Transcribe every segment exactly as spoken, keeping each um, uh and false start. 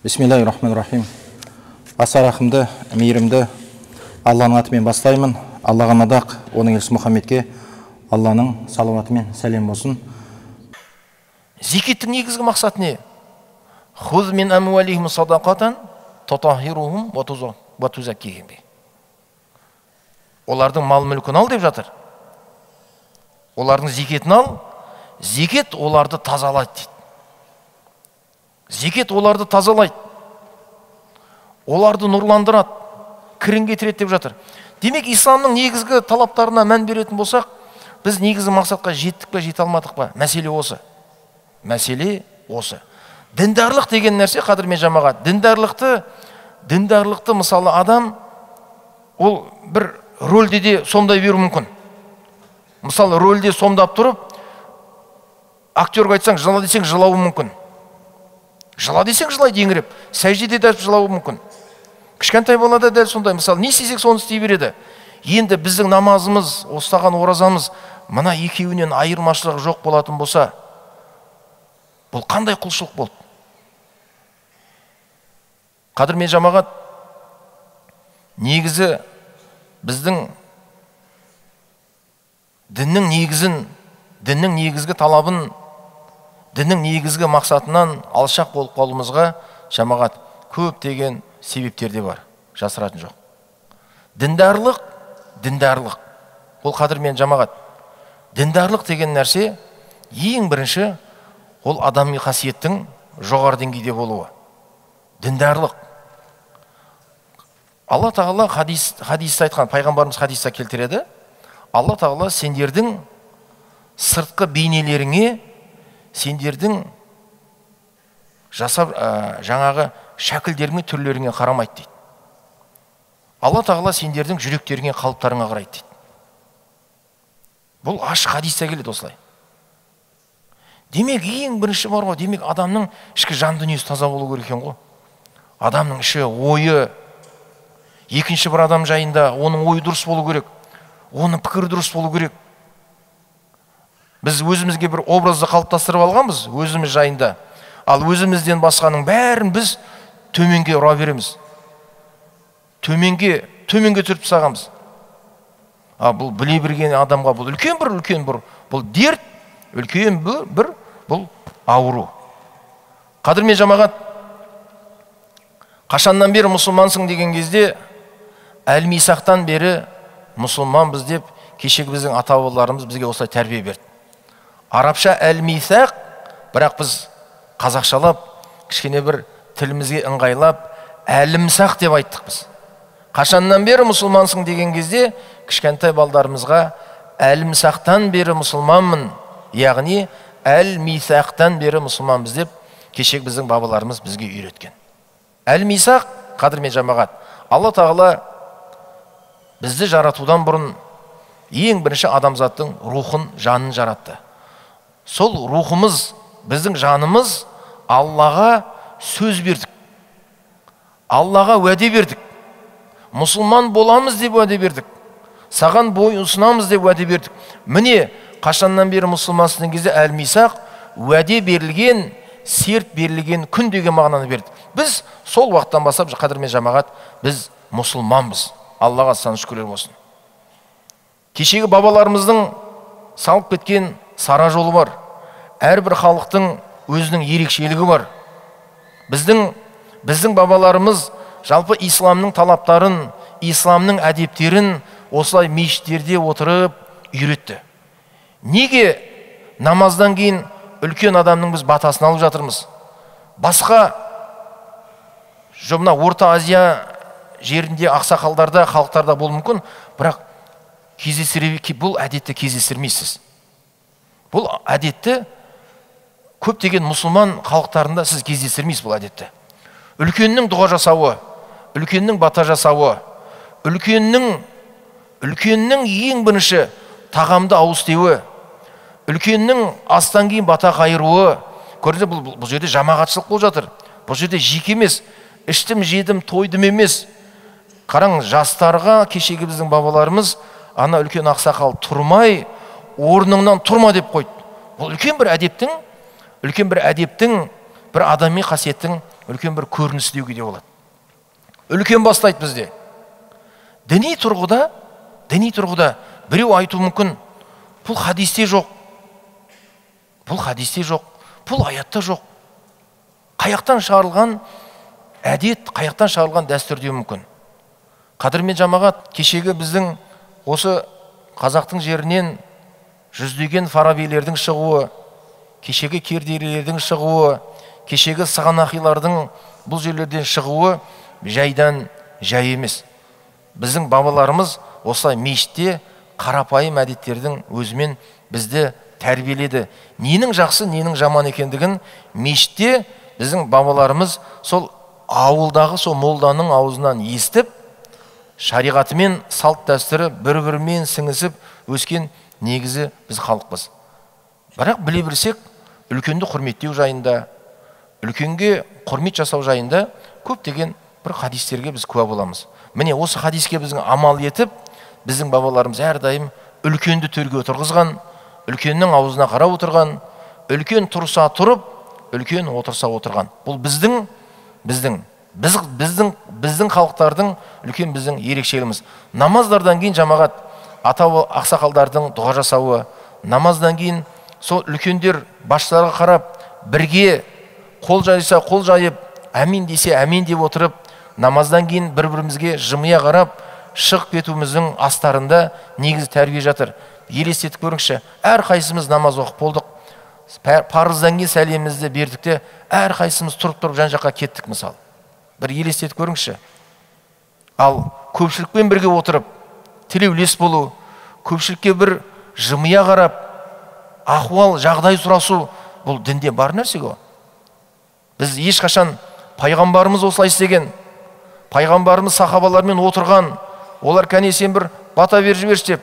Бисмиллахир-рахманир-рахим. Аса рахымды, мейірімді Алланың атымен бастаймын. Аллаға мадақ, оның елшісі Мұхаммедке Алланың салауатымен сәлем болсын. Зекеттің негізгі мақсаты не? Хуз мин амуалихим садақатан татахирухум ва тузаккихим. Олардың мал мүлкін ал деп жатыр. Олардың зекетін ал, зекет оларды тазалайды дейді. Зекет оларды тазалайды. Оларды нұрландырады, кірін кетіреді деп жатыр. Демек, исламның негізгі талаптарына мән беретін болсақ, біз негізгі мақсатқа жеттік пе, жете алмадық па? Мәселе осы. Мәселе осы. Діндарлық деген нәрсе, қадірмен жамағат. Діндарлықты, діндарлықты мысалы адам, ол бір рөлде де сомдай беру мүмкін. Мысалы, рөлде сомдап тұрып, актерға айтсаң, жыла десең, жылауы мүмкін. Жыла десең, жылайды еңіреп. Сәждеде дәл жылауы мүмкін. Кішкентай балада дәл сондай. Мысалы, не істесек соны істей береді. Енді біздің намазымыз, ұстаған оразамыз, мына екеуінен айырмашылығы жоқ болатын болса, бұл қандай құлшылық болды? Қадірмен жамағат, негізі біздің діннің негізін, діннің негізгі талабын, діннің негізгі мақсатынан алшақ болып қалуымызға жамағат көптеген себептерде бар, жасыратын жоқ. Діндарлық, діндарлық. Ол қадірмен жамағат. Діндарлық деген нәрсе ең бірінші ол адами қасиеттің жоғары деңгейде болуы. Діндарлық. Алла тағала хадис, хадисте айтқан, пайғамбарымыз хадисте келтіреді. Алла тағала сендердің сыртқы бейнелеріңе, сендердің жасап жаңағы шәкілдеріңе, түрлеріңе қарамайды дейді. Алла тағала сендердің жүректеріңе, қалыптарыңа қарайды дейді. Бұл ашық хадисте келеді осылай. Демек, ең бірінші бар ғой, демек адамның ішкі жан дүниесі таза болу керек екен ғой. Адамның іші, ойы, екінші бір адам жайында оның ойы дұрыс болу керек, оның пікірі дұрыс болу керек. Біз өзімізге бір образды қалыптастырып алғанбыз, өзіміз жайында. Ал өзімізден басқаның бәрін біз төменге ұра береміз. Төменге, төменге түріп тастағанбыз. А бұл біле берген адамға бұл үлкен бір, үлкен бір, бұл дерт, үлкен бір, бір бұл ауру. Қадірмен жамағат, қашаннан бері мұсылмансың деген кезде, әл-мисақтан бері мұсылманбыз деп, кешегі біздің ата-бабаларымыз бізге осылай тәрбие берді. Арабша әл-мисақ, бірақ біз қазақшалап, кішкене бір тілімізге ыңғайлап, әлімсақ деп айттық біз. Қашаннан бері мұсылмансың деген кезде, кішкентай балдарымызға әлімсақтан бері мұсылманмын, яғни әл-мисақтан бері мұсылманбыз деп, кешегі біздің бабаларымыз бізге үйреткен. Әл-мисақ, қадірмен жамағат, Алла тағала бізді жаратудан бұрын ең бірінші адамзаттың рухын, жанын жаратты. Сол рухымыз, біздің жанымыз Аллаға сөз бердік. Аллаға уәде бердік. Мұсылман боламыз деп уәде бердік. Саған бой ұсынамыз деп уәде бердік. Міне, қашаннан бері мұсылмансың кезде әл-мисақ уәде берілген, серт берілген күн деген мағынаны берді. Біз сол уақыттан бастап, қадірмен жамағат, біз мұсылманбыз. Аллаға сан шүкірлер болсын. Кешегі бабаларымыздың салып кеткен сара жолы бар. Әрбір халықтың өзінің ерекшелігі бар. Біздің, біздің бабаларымыз жалпы исламның талаптарын, исламның әдептерін осылай мешіттерде отырып үйретті. Неге намаздан кейін үлкен адамның біз батасын алып жатырмыз? Басқа жұмна Орта Азия жерінде ақсақалдарда, халықтарда болуы мүмкін, бірақ бұл әдетті кездестірмейсіз. Бұл әдетті көптеген мұсылман халықтарында сіз кездестірмейсіз бұл әдетті. Үлкеннің дұға жасауы, үлкеннің бата жасауы, үлкеннің, үлкеннің ең бірінші тағамды ауыз тиюі, үлкеннің астан кейін бата қайыруы, көрдіңіз, бұл, бұл жерде жамағатшылық болып жатыр. Бұл жерде жеке емес, іштім, жедім, тойдым емес. Қараң, жастарға кешегі біздің бабаларымыз ана үлкен ақсақал тұрмай, орныңнан тұрма деп қойды. Бұл үлкен бір әдептің, үлкен бір әдептің, бір адами қасиеттің үлкен бір көрініс деуге де болады. Үлкен бастайды бізде. Діни тұрғыда, діни тұрғыда біреу айту мүмкін, бұл хадисте жоқ. Бұл хадисте жоқ, бұл аятта жоқ. Қаяқтан шығарылған әдет, қаяқтан шығарылған дәстүр деу мүмкін. Қадірмен жамағат, кешегі біздің осы қазақтың жерінен жүздеген фарабилердің шығуы, кешегі кердейлердің шығуы, кешегі сығанақилардың бұл жерлерден шығуы жайдан жай емес. Біздің бабаларымыз осылай мешітте қарапайым әдеттердің өзімен бізді тәрбиеледі. Ненің жақсы, ненің жаман екендігін мешітте біздің бабаларымыз сол ауылдағы сол молданың аузынан естіп, шариғатымен салт дәстүрі бір-бірімен сіңісіп өскен негізі біз халықпыз. Бірақ біле білсек, үлкенді құрметтеу жайында, үлкенге құрмет жасау жайында көптеген бір хадистерге біз куә боламыз. Міне осы хадиске біздің амал етіп, біздің бабаларымыз әрдайым үлкенді төрге отырғызған, үлкеннің аузына қарап отырған, үлкен тұрса тұрып, үлкен отырса отырған. Бұл біздің біздің біз, біздің біздің халықтардың үлкен біздің ерекшелігіміз. Намаздардан кейін жамағат ата ақсақалдардың дұға жасауы, намаздан кейін сол үлкендер басшыларға қарап бірге қол жайса қол жайып, әмин десе әмин деп отырып, намаздан кейін бір-бірімізге жымия қарап шығып кетуіміздің астарында негізі тәрбие жатыр. Елестетіп көріңізші, әр қайсымыз намаз оқып болдық, парыздан кейін сәлемімізді бердік те, әр қайсымыз тұрып-тұрып жан-жаққа кеттік мысалы. Бір елестетіп көріңізші. Ал көпшілікпен бірге отырып, тілеулес болу, көпшілікке бір жымия қарап, ахуал, жағдай сұрасу, бұл дінде бар нәрсе ғой. Біз ешқашан пайғамбарымыз осылай істеген, пайғамбарымыз сахабалармен отырған, олар кәне сен бір бата бер жіберші деп,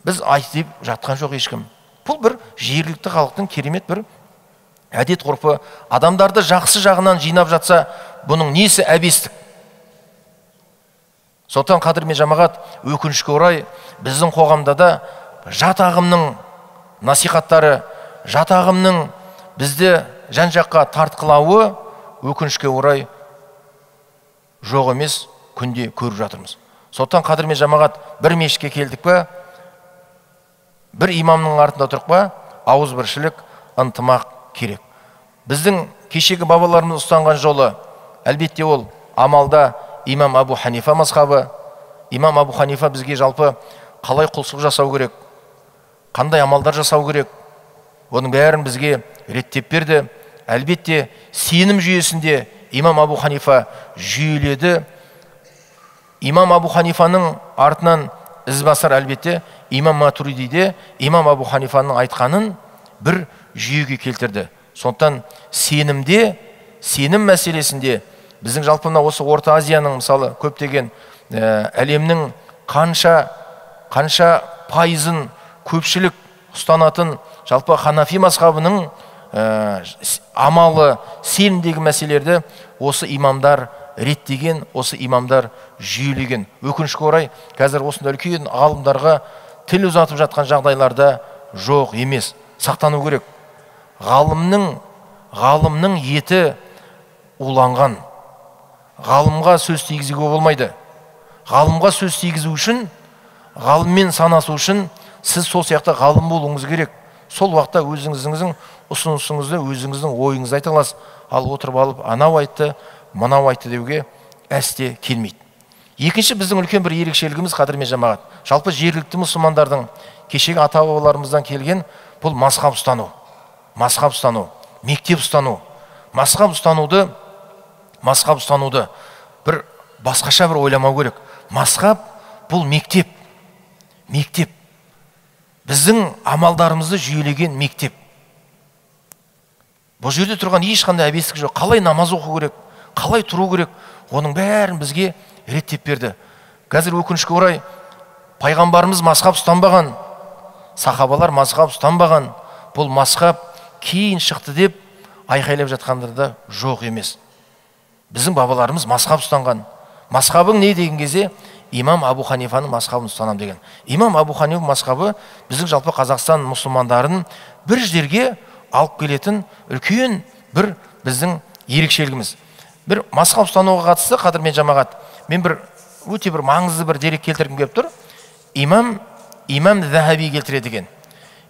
біз айтып жатқан жоқ ешкім. Бұл бір жергілікті халықтың керемет бір әдет ғұрпы. Адамдарды жақсы жағынан жинап жатса, бұның несі әбестік. Сондықтан қадірмен жамағат, өкінішке орай біздің қоғамда да жат ағымның насихаттары, жат ағымның бізді жан-жаққа тартқылауы өкінішке орай жоқ емес, күнде көріп жатырмыз. Сондықтан қадірмен жамағат, бір мешітке келдік па, бір имамның артында тұрып па, ауызбіршілік, ынтымақ керек. Біздің кешегі бабаларымыз ұстанған жолы, әлбетте ол амалда имам Абу Ханифа мазхабы. Имам Абу Ханифа бізге жалпы қалай құлшылық жасау керек, қандай амалдар жасау керек, оның бәрін бізге реттеп берді. Әлбетте сенім жүйесінде имам Абу Ханифа жүйеледі. Имам Абу Ханифаның артынан ізбасар әлбетте имам Матуридиде имам Абу Ханифаның айтқанын бір жүйеге келтірді. Сондықтан сенімде, сенім мәселесінде біздің жалпы мына осы Орта Азияның мысалы көптеген әлемнің қанша қанша пайызын көпшілік ұстанатын жалпы Ханафи мазхабының амалы, сенімдегі мәселелерді осы имамдар реттеген, осы имамдар жүйелеген. Өкінішке орай қазір осында үлкен ғалымдарға тіл ұзатып жатқан жағдайларда жоқ емес, сақтану керек. Ғалымның ғалымның еті уланған. Ғалымға сөз тигізуге болмайды. Ғалымға сөз тигізу үшін, ғалыммен санасу үшін сіз сол сияқты ғалым болуыңыз керек. Сол уақытта өзіңіздің ұсынысыңызды, өзіңіздің ойыңызды айта аласыз. Ал отырып алып, анау айтты, мынау айтты деуге әсте келмейді. Екінші біздің үлкен бір ерекшелігіміз қадірмен жамағат. Жалпы жергілікті мұсылмандардың кешегі ата-бабаларымыздан келген бұл мазхаб ұстану. Мазхаб ұстану, мектеп ұстану. Мазхаб ұстануды, мазхаб ұстануды бір басқаша бір ойламау керек. Мазхаб бұл мектеп. Мектеп. Біздің амалдарымызды жүйелеген мектеп. Бұл жерде тұрған ешқандай әбестік жоқ. Қалай намаз оқу керек, қалай тұру керек, оның бәрін бізге реттеп берді. Қазір өкінішке орай пайғамбарымыз мазхаб ұстанбаған, сахабалар мазхаб ұстанбаған. Бұл мазхаб кейін шықты деп айқайлап жатқандарда жоқ емес. Біздің бабаларымыз мазхаб ұстанған. Мазхабың не деген кезде имам Абу Ханифаның мазхабын ұстанам деген. Имам Абу Ханифа мазхабы біздің жалпы Қазақстан мұсылмандарын бір жерге алып келетін үлкен бір біздің ерекшелігіміз. Бір мазхаб ұстануға қатысты, қадірмен жамағат, мен бір өте бір маңызды бір дерек келтіргім келіп тұр. Имам Имам Захаби келтіреді екен.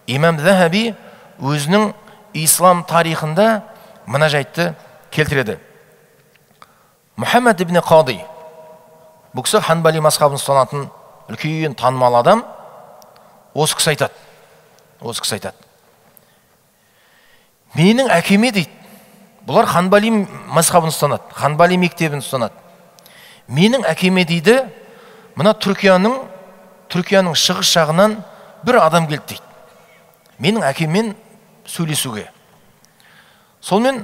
Имам Захаби өзінің ислам тарихында мына жайтты келтіреді. Мұхаммад ибн Қади, бұл кісі Ханбали мазхабын ұстанатын үлкен танымал адам, осы кісі айтады. Осы кісі айтады. Менің әкеме дейді, бұлар Ханбали мазхабын ұстанады, Ханбали мектебін ұстанады. Менің әкеме дейді, мына Түркияның Түркияның шығыс жағынан бір адам келді дейді. Менің әкеммен сөйлесуге. Солмен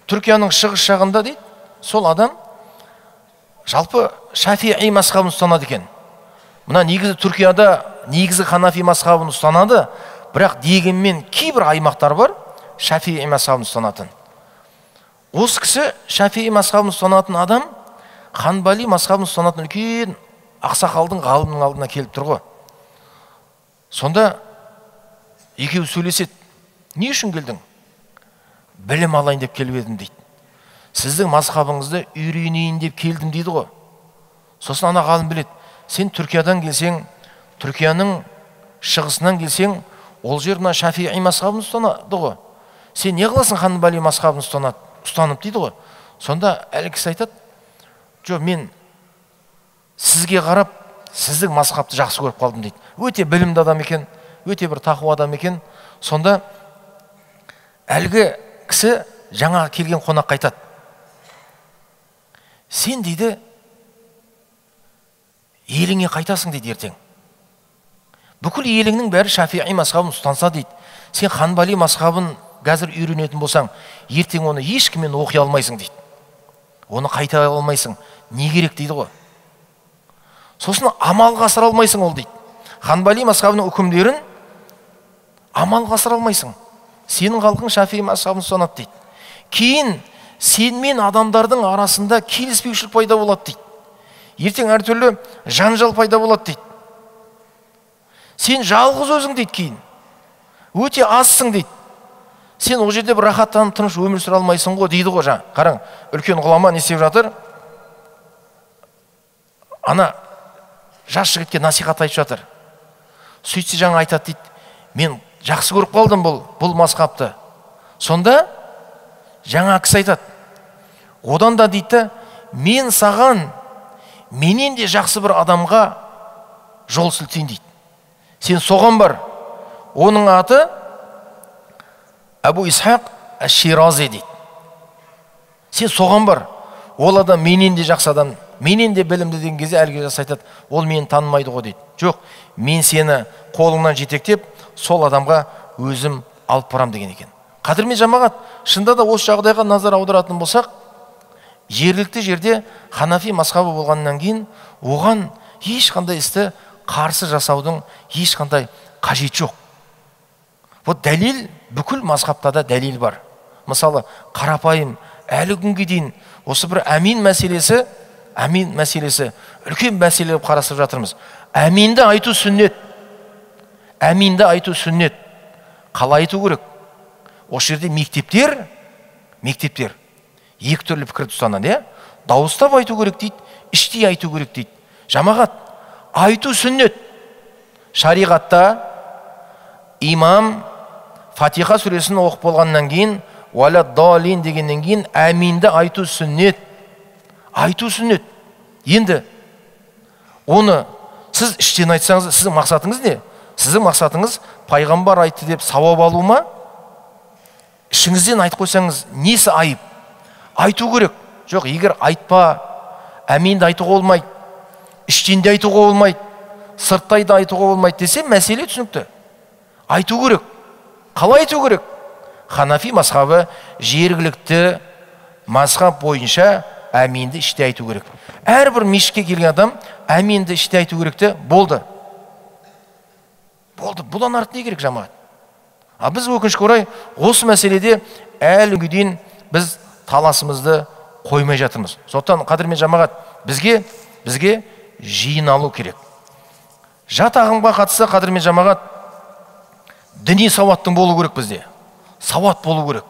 Түркияның шығыс жағында дейді, сол адам жалпы Шафиғи мазхабын ұстанады екен. Мына негізі Түркияда негізі Ханафи мазхабын ұстанады, бірақ дегенмен кейбір аймақтар бар Шафиғи мазхабын ұстанатын. Осы кісі Шафиғи мазхабын ұстанатын адам Ханбали мазхабын ұстанатын үлкен ақсақалдың ғалымның алдына келіп тұр ғой. Сонда екеуі сөйлеседі. Не үшін келдің? Білім алайын деп келіп едім дейді. Сіздің мазхабыңызды үйренейін деп келдім дейді ғой. Сосын ана ғалым біледі. Сен Түркиядан келсең, Түркияның шығысынан келсең, ол жер мына Шафиғи мазхабын ұстанады ғой. Сен не қыласың Ханбали мазхабын ұстанып дейді ғой. Сонда әлгі кісі айтады, жоқ, мен сізге қарап, сіздің мазхабты жақсы көріп қалдым дейді. Өте білімді адам екен, өте бір тақуа адам екен. Сонда әлгі кісі жаңа келген қонаққа айтады. Сен дейді, еліңе қайтасың дейді ертең. Бүкіл еліңнің бәрі Шафиғи мазхабын ұстанса дейді. Сен Ханбали мазхабын қазір үйренетін болсаң, ертең оны ешкіммен оқи алмайсың дейді. Оны қайта алмайсың. Не керек дейді ғой. Сосын амалға асыра алмайсың ол дейді. Ханбали мазхабының үкімдерін амалға асыра алмайсың. Сенің халқың Шафиғи мазхабын ұстанады дейді. Кейін сен мен адамдардың арасында келіспеушілік пайда болады дейді. Ертең әртүрлі жанжал пайда болады дейді. Сен жалғыз өзің дейді кейін. Өте азсың дейді. Сен ол жерде бір рахаттанып тыныш өмір сүре алмайсың ғой дейді ғой жаңа. Қараң, үлкен ғұлама не істеп жатыр? Ана жас жігітке насихат айтып жатыр. Сөйтсе жаңа айтады дейді, мен жақсы көріп қалдым бұл бұл мазхабты. Сонда жаңа кісі айтады, одан да дейді, мен саған менен де жақсы бір адамға жол сілтейін дейді. Сен соған бар. Оның аты Абу Исхақ Аш-Ширази дейді. Сен соған бар. Ол адам менен де жақсы адам, менен де білімді деген кезде әлгі жас айтады, ол мені танымайды ғой дейді. Жоқ, мен сені қолыңнан жетектеп, сол адамға өзім алып барам деген екен. Қадірмен жамағат, шында да осы жағдайға назар аударатын болсақ, жергілікті жерде Ханафи мазхабы болғаннан кейін оған ешқандай істі қарсы жасаудың ешқандай қажет жоқ. Вот дәлел, бүкіл мазхабта да дәлел бар. Мысалы, қарапайым әлі күнге дейін осы бір әмин мәселесі, әмин мәселесі үлкен мәселе болып қарастырып жатырмыз. Әминді айту сүннет. Әминді айту сүннет. Қалай айту керек? Осы жерде мектептер, мектептер екі түрлі пікірді ұстанады, иә? Дауыстап айту керек дейді, іштей айту керек дейді. Жамағат, айту сүннет. Шариғатта имам Фатиха сүресін оқып болғаннан кейін, уәлә далин дегеннен кейін әминді айту сүннет. Айту сүннет. Енді оны сіз іштен айтсаңыз, сіздің мақсатыңыз не? Сіздің мақсатыңыз пайғамбар айтты деп сауап алу ма? Ішіңізден айтып қойсаңыз, несі айып? Айту керек. Жоқ, егер айтпа, әминді айтуға болмайды, іштен де айтуға болмайды, сырттай да айтуға болмайды десе, мәселе түсінікті. Айту керек. Қалай айту керек? Ханафи мазхабы жергілікті мазхаб бойынша әминді іште айту керек. Әрбір мешітке келген адам әминді іште айту керекті, болды. Болды. Бұдан артық не керек жамағат? А біз өкінішке орай осы мәселеде әлі күнге дейін біз таласымызды қоймай жатырмыз. Сондықтан қадірмен жамағат, бізге бізге жиналу керек. Жат ағымға қатысты қадірмен жамағат, діни сауаттың болу керек бізде. Сауат болу керек.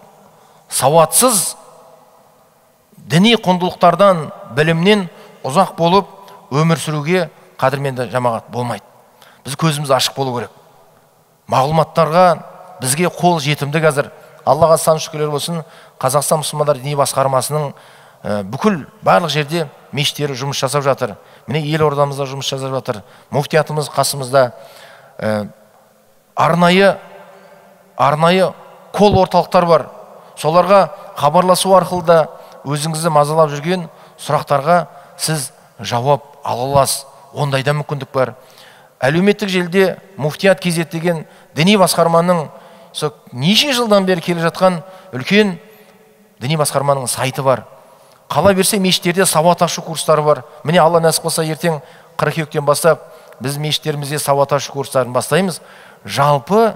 Сауатсыз діни құндылықтардан, білімнен ұзақ болып өмір сүруге қадірменді жамағат болмайды. Біз көзіміз ашық болу керек. Мағлұматтарға бізге қол жетімді қазір. Аллаға сан шүкірлер болсын, Қазақстан мұсылмандар діни басқармасының бүкіл барлық жерде мешіттері жұмыс жасап жатыр. Міне елордамызда жұмыс жасап жатыр. Муфтиятымыз қасымызда. Арнайы арнайы кол орталықтар бар. Соларға хабарласу арқылы да өзіңізді мазалап жүрген сұрақтарға сіз жауап ала аласыз. Ондайда мүмкіндік бар. Әлеуметтік желіде Муфтият кз деген діни басқарманың неше жылдан бері келе жатқан үлкен діни басқарманың сайты бар. Қала берсе мешіттерде сауат ашу курстары бар. Міне Алла нәсіп болса ертең қыркүйектен бастап біз мешіттерімізде сауат ашу курстарын бастаймыз. Жалпы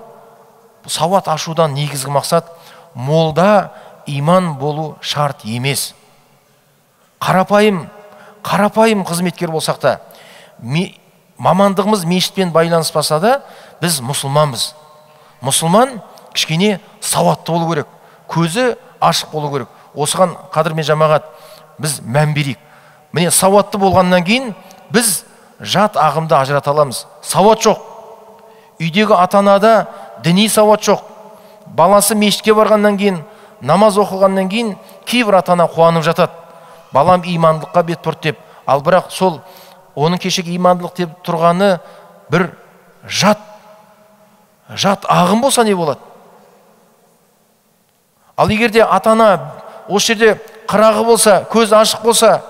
сауат ашудан негізгі мақсат молда иман болу шарт емес. Қарапайым, қарапайым қызметкер болсақ та, мамандығымыз мешітпен байланыспаса да, біз мұсылманбыз. Мұсылман кішкене сауатты болу керек, көзі ашық болу керек. Осыған қадірмен жамағат біз мән берейік. Міне сауатты болғаннан кейін біз жат ағымды ажырата аламыз. Сауат жоқ. Үйдегі ата-анада діни сауат жоқ. Баласы мешітке барғаннан кейін, намаз оқылғаннан кейін кейбір ата-ана қуанып жатады. Балам имандылыққа бет бұрды деп. Ал бірақ сол оның кешегі имандылық деп тұрғаны бір жат жат ағым болса не болады? Ал егерде ата-ана осы жерде қырағы болса, көз ашық болса,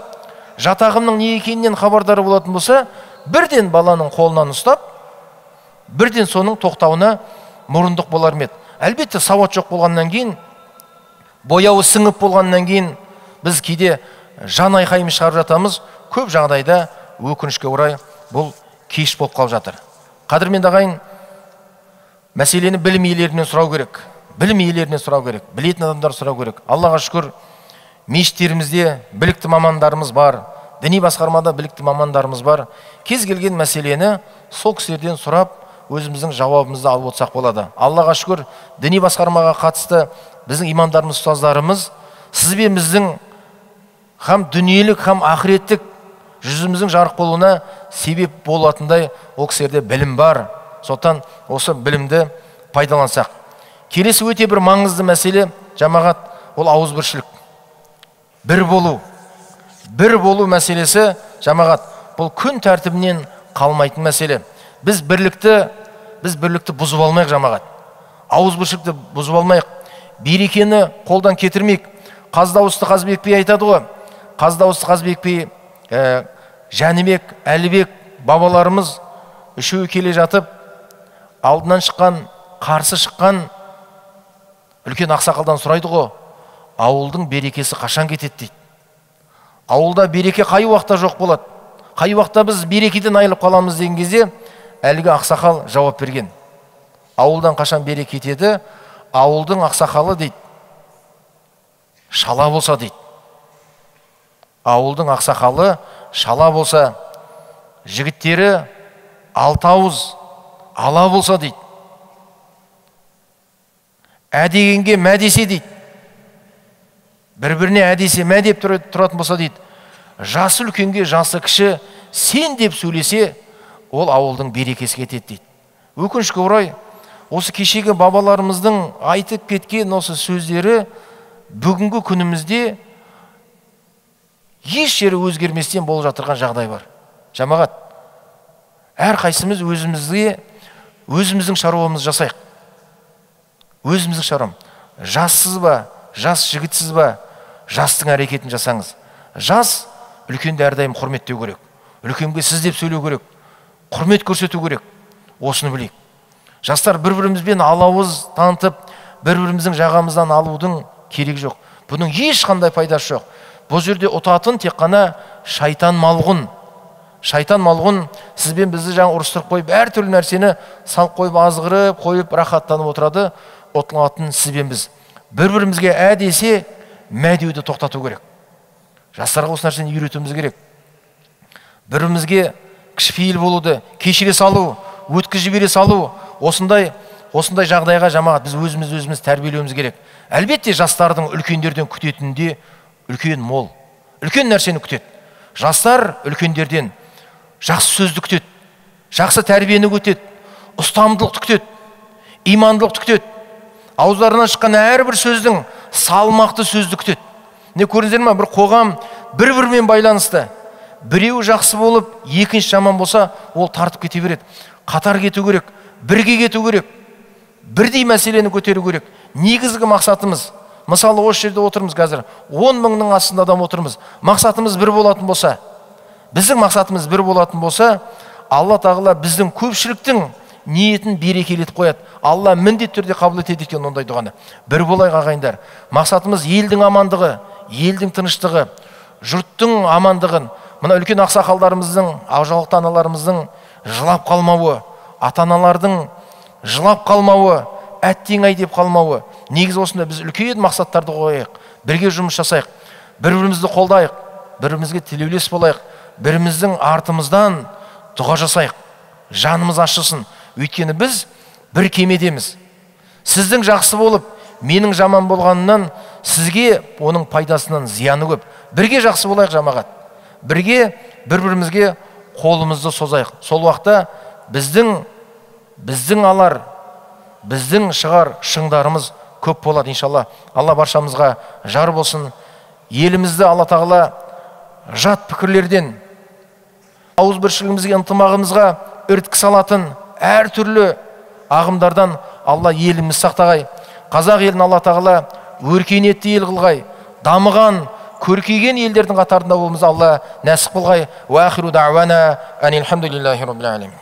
жат ағымның не екенінен хабардары болатын болса, бірден баланың қолынан ұстап, бірден соның тоқтауына мұрындық болар ма еді? Әлбетте сауат жоқ болғаннан кейін, бояуы сіңіп болғаннан кейін біз кейде жан айқайымыз шығарып жатамыз. Көп жағдайда өкінішке орай бұл кеш болып қалып жатыр. Қадірменді ағайын, мәселені білім иелерінен сұрау керек. Білім иелерінен сұрау керек. Білетін адамдар сұрау керек. Аллаға шүкір, мешіттерімізде білікті мамандарымыз бар. Діни басқармада білікті мамандарымыз бар. Кез келген мәселені сол кісілерден сұрап, өзіміздің жауабымызды алып отырсақ болады. Аллаға шүкір, діни басқармаға қатысты біздің имамдарымыз, ұстаздарымыз сізбен біздің хам дүниелік, хам ақыреттік жүзіміздің жарық болуына себеп болатындай ол кісілерде білім бар. Сондықтан осы білімді пайдалансақ. Келесі өте бір маңызды мәселе жамағат, ол ауызбіршілік. Бір болу. Бір болу мәселесі жамағат, бұл күн тәртібінен қалмайтын мәселе. Біз бірлікті, біз бірлікті бұзып алмайық жамағат. Ауызбіршілікті бұзып алмайық. Берекені қолдан кетірмейік. Қаздауысты Қазбек би айтады ғой. Қаздауысты Қазбек би, ә, Жәнібек, Әлібек бабаларымыз үшеуі келе жатып, алдынан шыққан, қарсы шыққан үлкен ақсақалдан сұрайды ғой, ауылдың берекесі қашан кетеді дейді. Ауылда береке қай уақытта жоқ болады? Қай уақытта біз берекеден айырылып қаламыз деген кезде әлгі ақсақал жауап берген. Ауылдан қашан береке кетеді? Ауылдың ақсақалы дейді, шала болса дейді. Ауылдың ақсақалы шала болса, жігіттері алты ауыз ала болса дейді. Ә дегенге мә десе дейді. Бір-біріне ә десе мә деп тұратын болса дейді. Жасы үлкенге жасы кіші сен деп сөйлесе, ол ауылдың берекесі кетеді дейді. Өкінішке орай, осы кешегі бабаларымыздың айтып кеткен осы сөздері бүгінгі күнімізде еш жері өзгерместен болып жатырған жағдай бар. Жамағат, әр қайсымыз өзімізге өзіміздің шаруамызды жасайық. Өзіміздің шаруам. Жассыз ба, жас жігітсіз ба, жастың әрекетін жасаңыз. Жас үлкенді әрдайым құрметтеу керек. Үлкенге сіз деп сөйлеу керек. Құрмет көрсету керек. Осыны білейік. Жастар бір-бірімізбен алауыз танытып, бір-біріміздің жағамыздан алудың керек жоқ. Бұның ешқандай пайдасы жоқ. Бұл жерде ұтатын тек қана шайтан малғұн. Шайтан малғұн сізбен бізді жаңа ұрыстырып қойып, әр түрлі нәрсені салып қойып, азғырып қойып, рахаттанып отырады. Ұтылатын сізбен біз. Бір-бірімізге ә десе, мә деуді тоқтату керек. Жастарға осы нәрсені үйретуіміз керек. Бірімізге кішіпейіл болуды, кешіре салу, өткізіп жібере салу, осындай осындай жағдайға жамағат біз өзіміз өзіміз тәрбиелеуіміз керек. Әлбетте жастардың үлкендерден күтетінінде үлкен мол. үлкен нәрсені күтеді. Жастар үлкендерден жақсы сөзді күтеді, жақсы тәрбиені күтеді, ұстамдылықты күтеді, имандылықты күтеді. Ауыздарынан шыққан әрбір сөздің салмақты сөзді күтеді. Не көрдіңіздер ме? Бір қоғам бір-бірімен байланысты. Біреуі жақсы болып, екінші жаман болса, ол тартып кете береді. Қатар кету керек, бірге кету керек, бірдей мәселені көтеру керек. Негізгі мақсатымыз, мысалы осы жерде отырмыз қазір, он мыңның астында адам отырмыз. Мақсатымыз бір болатын болса, біздің мақсатымыз бір болатын болса, Алла тағала біздің көпшіліктің ниетін берекелетіп қояды. Алла міндетті түрде қабыл етеді екен ондай дұғаны. Бір болайық ағайындар. Мақсатымыз елдің амандығы, елдің тыныштығы, жұрттың амандығын. Мына үлкен ақсақалдарымыздың, ақжаулықты аналарымыздың жылап қалмауы, ата-аналардың жылап қалмауы, әттең-ай деп қалмауы. Негізі осында біз үлкен мақсаттарды қойайық, бірге жұмыс жасайық, бір-бірімізді қолдайық, бір-бірімізге тілеулес болайық, біріміздің артымыздан дұға жасайық, жанымыз ашылсын. Өйткені біз бір кемедеміз. Сіздің жақсы болып, менің жаман болғанынан сізге оның пайдасынан зияны көп. Бірге жақсы болайық жамағат. Бірге бір-бірімізге қолымызды созайық. Сол уақытта біздің біздің алар, біздің шығар шыңдарымыз көп болады иншалла. Алла баршамызға жар болсын. Елімізді Алла тағала жат пікірлерден, ауызбіршілігімізге, ынтымағымызға үрткі салатын әртүрлі ағымдардан Алла еліміз сақтағай. Қазақ елін Алла тағала өркениетті ел қылғай, дамыған, көркейген елдердің қатарында болуымызды Алла нәсіп қылғай. Уа ахиру дa'вана анил хамдулиллахи rabbil alamin.